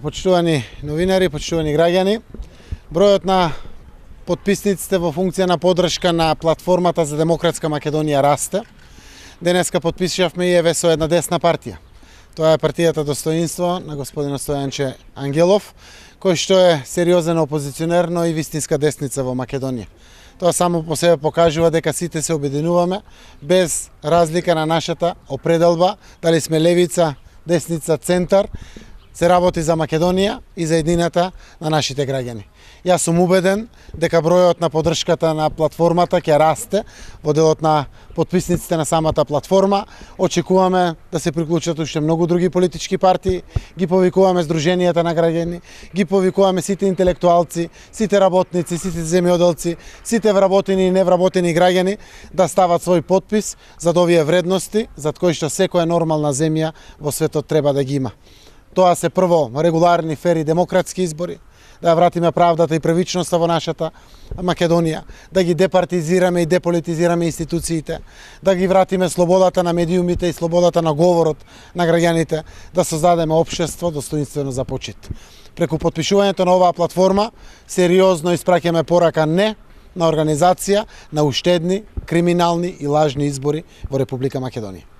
почитувани новинари, почитувани граѓани, бројот на потписниците во функција на поддршка на платформата за демократска Македонија расте. Денеска потпишавме и со една десна партија. Тоа е партијата Достоинство на господинот Стојанче Ангелов, кој што е сериозен опозиционер, но и вистинска десница во Македонија. Тоа само по себе покажува дека сите се обединуваме без разлика на нашата определба, дали сме левица, десница, центар, се работи за Македонија и за едината на нашите граѓани. Јас сум убеден дека бројот на поддршката на платформата ќе расте во делот на потписниците на самата платформа. Очекуваме да се приклучат уште многу други политички партии, ги повикуваме здруженијата на граѓани, ги повикуваме сите интелектуалци, сите работници, сите земјоделци, сите вработени и невработени граѓани да стават свој потпис за овие вредности за кои што секоја нормална земја во светот треба да ги има. Тоа се прво регуларни, фери, демократски избори, да вратиме правдата и правичноста во нашата Македонија, да ги департизираме и деполитизираме институциите, да ги вратиме слободата на медиумите и слободата на говорот на граѓаните, да создадеме општество достоинствено за почит. Преку потпишувањето на оваа платформа сериозно испраќаме порака не на организација на уштедни, криминални и лажни избори во Република Македонија.